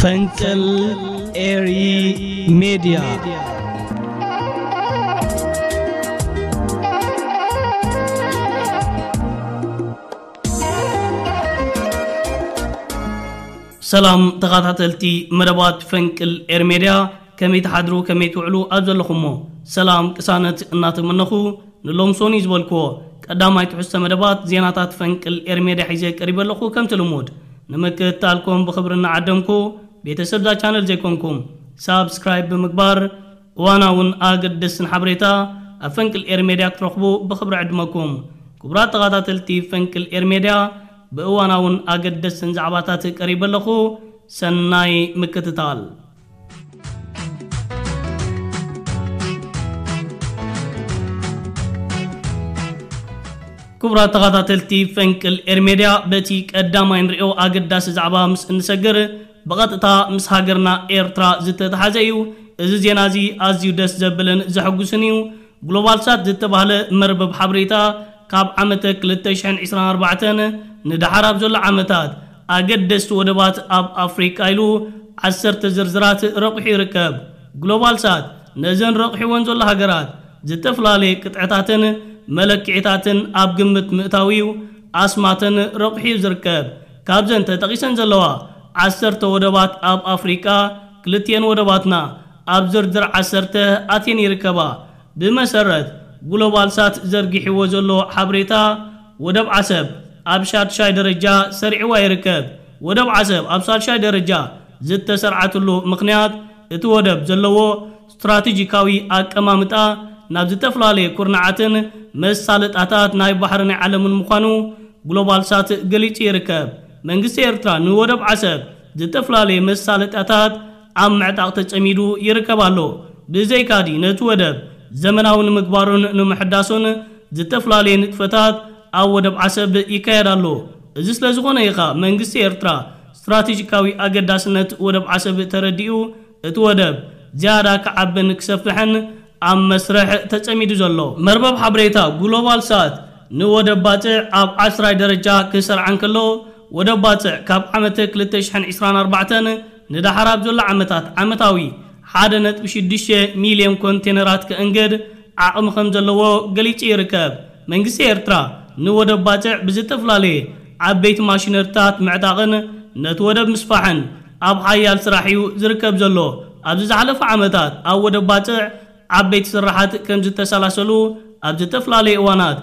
ፈንቅል ኤሪ ሜድያ። ሰላም ተኸታተልቲ መደባት ፈንቅል ኤር ሜድያ፣ ከመይ ትሓድሩ፣ ከመይ ትውዕሉ ኣብ ዘለኹሞ? ሰላም ቅሳነት እናተመነኹ፣ ንሎም ሶኒ ዝበልክዎ ቀዳማይ ትሕዝቶ መደባት ዜናታት ፈንቅል ኤር ሜድያ ሒዘ ቀሪበ ኣለኹ። ከምቲ ልሙድ ንምክትታልኩም ብኽብሪ እናዓደምኩ፣ ቤተሰብ እዛ ቻነል ዘይኮንኩም ሳብስክራይብ ብምግባር እዋናውን ኣገደስትን ሓበሬታ ኣብ ፈንቅል ኤር ሜድያ ክትረኽቡ ብኽብሪ ዕድመኩም። ክቡራት ተኸታተልቲ ፈንቅል ኤር ሜድያ፣ ብእዋናውን ኣገደስትን ዛዕባታት ቀሪበ ኣለኹ። ሰናይ ምክትታል። ክቡራት ተኸታተልቲ ፈንቅል ኤር ሜድያ፣ በቲ ቀዳማይ ንሪኦ ኣገዳሲ ዛዕባ ምስ እንሰግር፣ ብቐጥታ ምስ ሃገርና ኤርትራ ዝተተሓዘ እዩ። እዚ ዜና እዚ ኣዝዩ ደስ ዘብልን ዘሐጉስን እዩ። ግሎባል ሳት ዝተባህለ መርበብ ሓበሬታ፣ ካብ ዓመተ ክልተ ሽሕን ዕስራን ኣርባዕተን ንደሓር ኣብ ዘሎ ዓመታት ኣገደስቲ ወደባት ኣብ ኣፍሪቃ ኢሉ ዓሰርተ ዝርዝራት ረቑሑ ይርከብ። ግሎባል ሳት ነዘን ረቑሒወን ዘሎ ሃገራት ዝተፈላለየ ቅጥዕታትን መለክዒታትን ኣብ ግምት ምእታው እዩ ኣስማተን ረቑሑ እዩ ዝርከብ። ካብዘን ተጠቒሰን ዘለዋ ዓሰርተ ወደባት ኣብ ኣፍሪቃ፣ ክልቲኤን ወደባትና ኣብ ዝርዝር ዓሰርተ ኣትየን ይርከባ። ብመሰረት ግሎባል ሳት ዘርጊሕዎ ዘሎ ሓበሬታ፣ ወደብ ዓሰብ ኣብ ሻድሻይ ደረጃ ሰሪዕዋ ይርከብ። ወደብ ዓሰብ ኣብ ሳልሻይ ደረጃ ዝተሰርዓትሉ ምኽንያት፣ እቲ ወደብ ዘለዎ ስትራቴጂካዊ ኣቀማምጣ ናብ ዝተፈላለየ ኩርናዓትን መሳለጣታት ናይ ባሕሪ ናይ ዓለምን ምዃኑ ግሎባል ሳት ገሊጹ ይርከብ። መንግስቲ ኤርትራ ንወደብ ዓሰብ ዝተፈላለየ መሳለጥያታት ኣብ ምዕጣቕ ተጸሚዱ ይርከብ ኣሎ። ብዘይካዲ ነቲ ወደብ ዘመናዊ ንምግባሩን ንምሕዳሱን ዝተፈላለየ ንጥፈታት ኣብ ወደብ ዓሰብ ይካየድ ኣሎ። እዚ ስለ ዝኾነ ኢኻ መንግስቲ ኤርትራ ስትራቴጂካዊ ኣገዳስነት ወደብ ዓሰብ ተረዲኡ፣ እቲ ወደብ ዝያዳ ክዓብን ክሰፍሕን ኣብ መስርሕ ተጸሚዱ ዘሎ። መርበብ ሓበሬታ ግሎባል ሳት ንወደብ ባጽዕ ኣብ ዓስራይ ደረጃ ክሰርዓ እንከሎ፣ ወደብ ባጽዕ ካብ ዓመተ ክልተ ሽሕን ዕስራን ኣርባዕተን ንደሓር ኣብ ዘሎ ዓመታት ዓመታዊ ሓደ ነጥቢ ሽዱሽተ ሚልዮን ኮንቴነራት ከእንግድ ዓቕሚ ከም ዘለዎ ገሊጹ ይርከብ። መንግስቲ ኤርትራ ንወደብ ባጽዕ ብዝተፈላለየ ዓበይቲ ማሽነሪታት ምዕጣቕን ነቲ ወደብ ምስፋሕን ኣብ ሓያል ስራሕ እዩ ዝርከብ ዘሎ። ኣብዚ ዝሓለፈ ዓመታት ኣብ ወደብ ባጽዕ ዓበይቲ ስራሓት ከም ዝተሰላሰሉ ኣብ ዝተፈላለየ እዋናት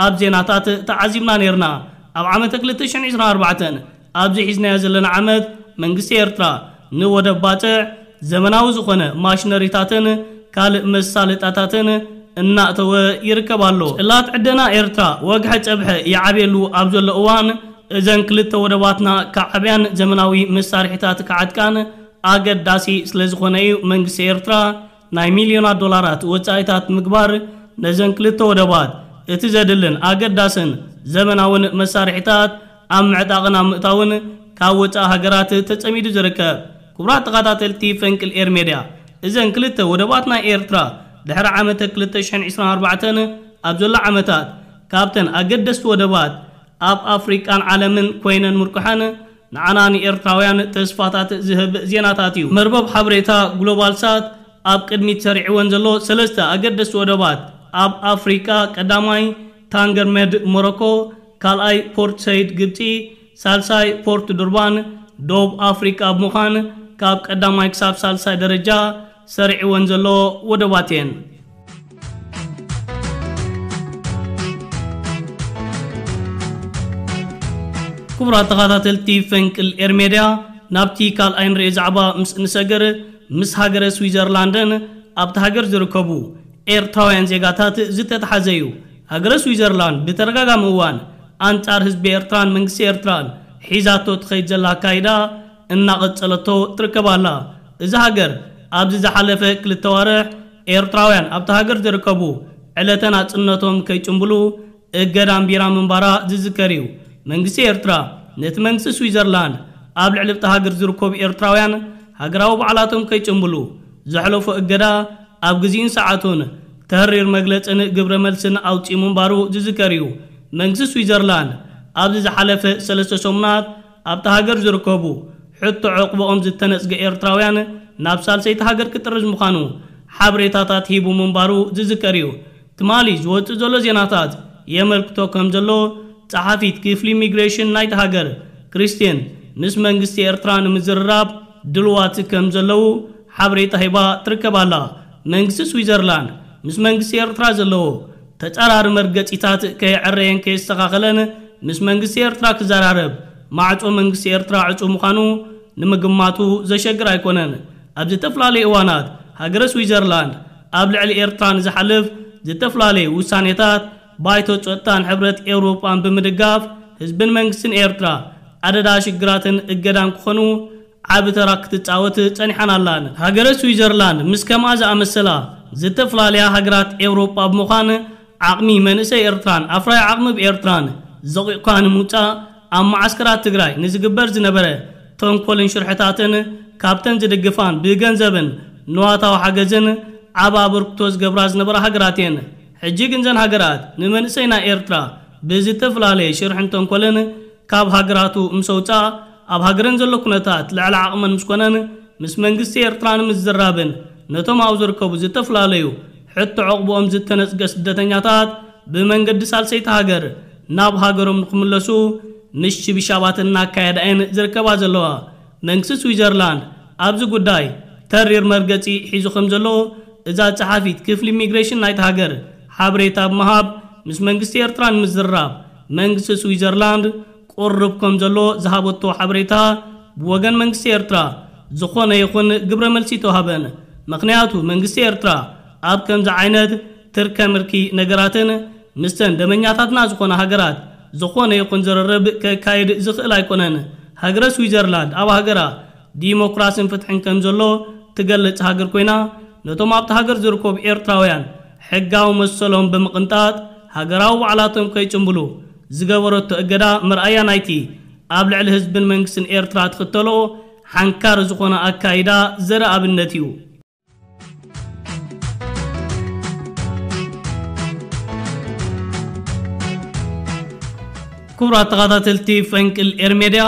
ኣብ ዜናታት ተዓዚብና ነይርና። ኣብ ዓመተ ክልተ ሽሕን ዕስራን ኣርባዕተን ኣብዚ ሒዝናዮ ዘለና ዓመት መንግስቲ ኤርትራ ንወደብ ባጽዕ ዘመናዊ ዝኾነ ማሽነሪታትን ካልእ መሳለጣታትን እናእተወ ይርከብ ኣሎ። ጽላት ዕደና ኤርትራ ወግሐ ጸብሐ ይዓብየሉ ኣብ ዘሎ እዋን፣ እዘን ክልተ ወደባትና ክዓብያን ዘመናዊ መሳርሒታት ክዓጥቃን ኣገዳሲ ስለ ዝኾነ እዩ መንግስቲ ኤርትራ ናይ ሚልዮናት ዶላራት ወጻኢታት ምግባር ነዘን ክልተ ወደባት እቲ ዘድልን ኣገዳስን ዘመናውን መሳርሒታት ኣብ ምዕጣቕን ኣብ ምእታውን ካብ ወጻኢ ሃገራት ተጸሚዱ ዝርከብ። ክቡራት ተኸታተልቲ ፈንቅል ኤር ሜድያ፣ እዘን ክልተ ወደባት ናይ ኤርትራ ድሕሪ ዓመተ ክልተ ሽሕን ዕስራን ኣርባዕተን ኣብ ዘሎ ዓመታት ካብተን ኣገደስቲ ወደባት ኣብ ኣፍሪቃን ዓለምን ኮይነን ምርቁሐን ንዓና ንኤርትራውያን ተስፋታት ዝህብ ዜናታት እዩ። መርበብ ሓበሬታ ግሎባል ሳት ኣብ ቅድሚት ሰሪዕወን ዘሎ ሰለስተ ኣገደስቲ ወደባት ኣብ ኣፍሪቃ፣ ቀዳማይ ታንገርመድ ሞሮኮ፣ ካልኣይ ፖርት ሰይድ ግብጺ፣ ሳልሳይ ፖርት ዱርባን ደቡብ ኣፍሪቃ ብምዃን ካብ ቀዳማይ ክሳብ ሳልሳይ ደረጃ ሰሪዕወን ዘሎ ወደባት እየን። ክቡራት ተኸታተልቲ ፈንቅል ኤር ሜድያ፣ ናብቲ ካልኣይ ንርኢ ዛዕባ ምስ እንሰግር፣ ምስ ሃገረ ስዊዘርላንድን ኣብቲ ሃገር ዝርከቡ ኤርትራውያን ዜጋታት ዝተተሓዘ እዩ። ሃገረ ስዊዘርላንድ ብተደጋጋሚ እዋን ኣንጻር ህዝቢ ኤርትራን መንግስቲ ኤርትራን ሒዛቶ ትኸይድ ዘላ ኣካይዳ እናቐጸለቶ ትርከብ ኣላ። እዛ ሃገር ኣብዚ ዝሓለፈ ክልተ ዋርሕ ኤርትራውያን ኣብቲ ሃገር ዝርከቡ ዕለተ ናጽነቶም ከይጭምብሉ እገዳ ኣንቢራ ምንባራ ዝዝከር እዩ። መንግስቲ ኤርትራ ነቲ መንግስቲ ስዊዘርላንድ ኣብ ልዕሊ ኣብቲ ሃገር ዝርከቡ ኤርትራውያን ሃገራዊ በዓላቶም ከይጭምብሉ ዘሕለፎ እገዳ ኣብ ግዜኡን ሰዓቱን ተህሪር መግለጽን ግብረ መልስን ኣውጺኡ ምንባሩ ዝዝከር እዩ። መንግስቲ ስዊዘርላንድ ኣብዚ ዝሓለፈ ሰለስተ ሰሙናት ኣብታ ሃገር ዝርከቡ ሕቶ ዕቕብኦም ዝተነጽገ ኤርትራውያን ናብ ሳልሰይቲ ሃገር ክጥርዝ ምዃኑ ሓበሬታታት ሂቡ ምንባሩ ዝዝከር እዩ። ትማሊ ዝወጽእ ዘሎ ዜናታት የመልክቶ ከም ዘሎ፣ ጸሓፊት ክፍሊ ኢሚግሬሽን ናይቲ ሃገር ክሪስቲን፣ ምስ መንግስቲ ኤርትራ ንምዝርራብ ድልዋት ከም ዘለዉ ሓበሬታ ሂባ ትርከብ ኣላ። መንግስቲ ስዊዘርላንድ ምስ መንግስቲ ኤርትራ ዘለዎ ተጻራሪ መርገጺታት ከየዐረየን ከየስተኻኸለን ምስ መንግስቲ ኤርትራ ክዘራረብ፣ ማዕጾ መንግስቲ ኤርትራ ዕጹ ምዃኑ ንምግማቱ ዘሸግር ኣይኮነን። ኣብ ዝተፈላለዩ እዋናት ሃገረ ስዊዘርላንድ ኣብ ልዕሊ ኤርትራ ንዝሓልፍ ዝተፈላለዩ ውሳኔታት ባይቶ ጸጥታን ሕብረት ኤውሮጳን ብምድጋፍ ህዝብን መንግስትን ኤርትራ ኣደዳ ሽግራትን እገዳን ክኾኑ ዓቢ ተራ ክትጻወት ጸኒሓን ኣላን። ሃገረ ስዊዘርላንድ ምስ ከምኣ ዝኣመሰላ ዝተፈላለያ ሃገራት ኤውሮጳ ብምዃን ዓቕሚ መንእሰይ ኤርትራን ኣፍራይ ዓቕሚ ብኤርትራን ዘቒቕካ ንምውጻእ ኣብ መዓስከራት ትግራይ ንዝግበር ዝነበረ ተንኮልን ሽርሕታትን ካብተን ዝድግፋን ብገንዘብን ንዋታዊ ሓገዝን ዓቢ ኣበርክቶ ዝገብራ ዝነበራ ሃገራት እየን። ሕጂ ግን ዘን ሃገራት ንመንእሰይ ናይ ኤርትራ ብዝተፈላለየ ሽርሕን ተንኮልን ካብ ሃገራቱ ምስ ኣውጽኣ፣ ኣብ ሃገረን ዘሎ ኩነታት ልዕሊ ዓቕመን ምስ ኮነን፣ ምስ መንግስቲ ኤርትራ ንምዝራብን ነቶም ኣብኡ ዝርከቡ ዝተፈላለዩ ሕቶ ዕቕብኦም ዝተነጽገ ስደተኛታት ብመንገዲ ሳልሰይቲ ሃገር ናብ ሃገሮም ንክምለሱ ምሽብሻባት እናካየዳ እየን ዝርከባ ዘለዋ። መንግስቲ ስዊዘርላንድ ኣብዚ ጉዳይ ተሪር መርገጺ ሒዙ ከም ዘሎ እዛ ጸሓፊት ክፍሊ ኢሚግሬሽን ናይቲ ሃገር ሓበሬታ ብምሃብ፣ ምስ መንግስቲ ኤርትራ ንምዝርራብ መንግስቲ ስዊዘርላንድ ቁርብ ከም ዘሎ ዝሃበቶ ሓበሬታ፣ ብወገን መንግስቲ ኤርትራ ዝኾነ ይኹን ግብረ መልሲ ተዋህበን። ምኽንያቱ መንግስቲ ኤርትራ ኣብ ከምዚ ዓይነት ትርከ ምርኪ ነገራትን ምስተን ደመኛታትና ዝኾነ ሃገራት ዝኾነ ይኹን ዝርርብ ከካይድ ዝኽእል ኣይኮነን። ሃገረ ስዊዘርላንድ ኣብ ሃገራ ዲሞክራስን ፍትሕን ከም ዘሎ ትገልጽ ሃገር ኮይና፣ ነቶም ኣብቲ ሃገር ዝርከቡ ኤርትራውያን ሕጋዊ መሰሎም ብምቕንጣጥ፣ ሃገራዊ ባዕላቶም ከይጭምብሉ ዝገበረቶ እገዳ መርኣያ ናይቲ ኣብ ልዕሊ ህዝብን መንግስትን ኤርትራ ትኽተሎ ሓንካሪ ዝኾነ ኣካይዳ ዘርኢ ኣብነት እዩ። ክቡራት ተኸታተልቲ ፈንቅል ኤር ሜድያ፣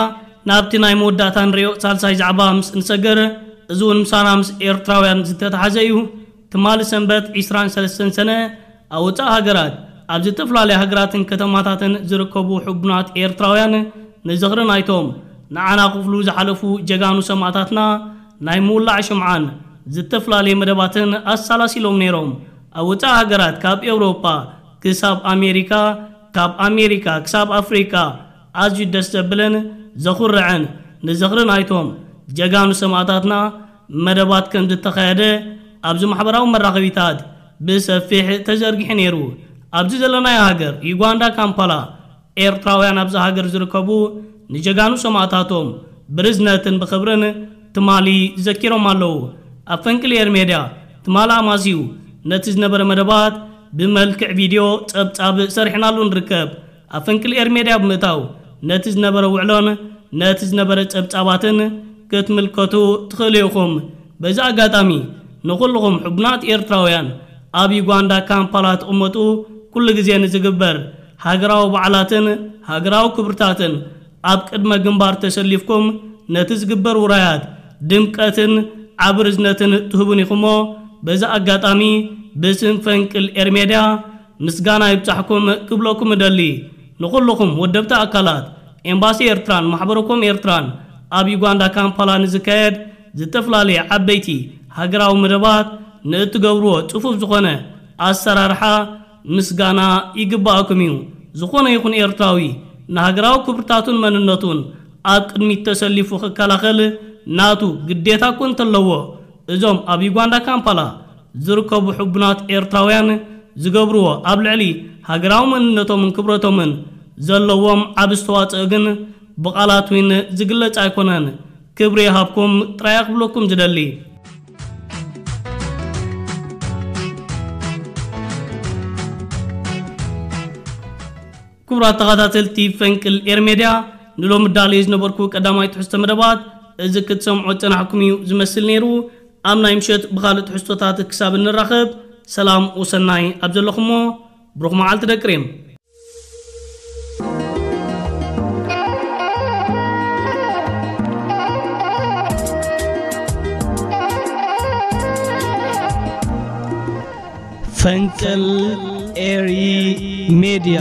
ናብቲ ናይ መወዳእታ ንሪኦ ሳልሳይ ዛዕባ ምስ እንሰግር፣ እዚ እውን ምሳና ምስ ኤርትራውያን ዝተተሓዘ እዩ። ትማሊ ሰንበት ዕስራን ሰለስተን ሰነ፣ ኣብ ወጻኢ ሃገራት፣ ኣብ ዝተፈላለያ ሃገራትን ከተማታትን ዝርከቡ ሕቡናት ኤርትራውያን ንዝኽሪ ናይቶም ንዓና ክፍሉ ዝሓለፉ ጀጋኑ ሰማእታትና ናይ ምውላዕ ሽምዓን ዝተፈላለየ መደባትን ኣሳላሲሎም ነይሮም። ኣብ ወጻኢ ሃገራት ካብ ኤውሮጳ ክሳብ ኣሜሪካ፣ ካብ ኣሜሪካ ክሳብ ኣፍሪቃ ኣዝዩ ደስ ዘብልን ዘኹርዕን ንዝኽሪ ናይቶም ጀጋኑ ሰማእታትና መደባት ከም ዝተኻየደ ኣብዚ ማሕበራዊ መራኸቢታት ብሰፊሕ ተዘርጊሑ ነይሩ። ኣብዚ ዘለናዮ ሃገር ዩጋንዳ ካምፓላ ኤርትራውያን ኣብዚ ሃገር ዝርከቡ ንጀጋኑ ሰማእታቶም ብርዝነትን ብኽብርን ትማሊ ዘኪሮም ኣለዉ። ኣብ ፈንቅል ኤር ሜድያ ትማሊ ኣማስዩ ነቲ ዝነበረ መደባት ብመልክዕ ቪድዮ ጸብጻብ ሰሪሕናሉ ንርከብ። ኣብ ፈንቅል ኤር ሜድያ ብምእታው ነቲ ዝነበረ ውዕሎን ነቲ ዝነበረ ጸብጻባትን ክትምልከቱ ትኽእሉ ኢኹም። በዚ ኣጋጣሚ ንኹልኹም ሕቡናት ኤርትራውያን ኣብ ዩጋንዳ ካምፓላ ትቕመጡ ኩሉ ግዜ ንዝግበር ሃገራዊ በዓላትን ሃገራዊ ክብርታትን ኣብ ቅድመ ግንባር ተሰሊፍኩም ነቲ ዝግበር ውራያት ድምቀትን ዓቢ ርዝነትን ትህቡን ኢኹሞ። በዚ ኣጋጣሚ ብስም ፈንቅል ኤር ሜድያ ምስጋና ይብጻሕኩም ክብለኩም እደሊ። ንኹልኹም ወደብቲ ኣካላት ኤምባሲ ኤርትራን ማሕበረኮም ኤርትራን ኣብ ዩጋንዳ ካምፓላ ንዝካየድ ዝተፈላለየ ዓበይቲ ሃገራዊ መደባት ንእትገብርዎ ጽፉፍ ዝኾነ ኣሰራርሓ ምስጋና ይግባኣኩም እዩ። ዝኾነ ይኹን ኤርትራዊ ንሃገራዊ ክብርታቱን መንነቱን ኣብ ቅድሚት ተሰሊፉ ክከላኸል ናቱ ግዴታ እኮ እንተለዎ፣ እዞም ኣብ ዩጋንዳ ካምፓላ ዝርከቡ ሕቡናት ኤርትራውያን ዝገብርዎ ኣብ ልዕሊ ሃገራዊ መንነቶምን ክብረቶምን ዘለዎም ዓቢ ኣስተዋጽኦ ግን ብቓላት እውን ዝግለጽ ኣይኮነን። ክብሪ ይሃብኩም ጥራይ ክብለኩም ዝደሊ። ክቡራት ተኸታተልቲ ፈንቅል ኤር ሜድያ፣ ንሎሚ ዳልየ ዝነበርኩ ቀዳማይ ትሕዝቶ መደባት እዚ ክትሰምዖ ዝጸናሕኩም እዩ ዝመስል ነይሩ። ኣብ ናይ ምሸት ብኻልእ ትሕዝቶታት ክሳብ እንራኸብ፣ ሰላም ወሰናይ ኣብ ዘለኹሞ፣ ብሩኽ መዓልቲ ደቂ ሬም። ፈንቅል ኤሪ ሜድያ።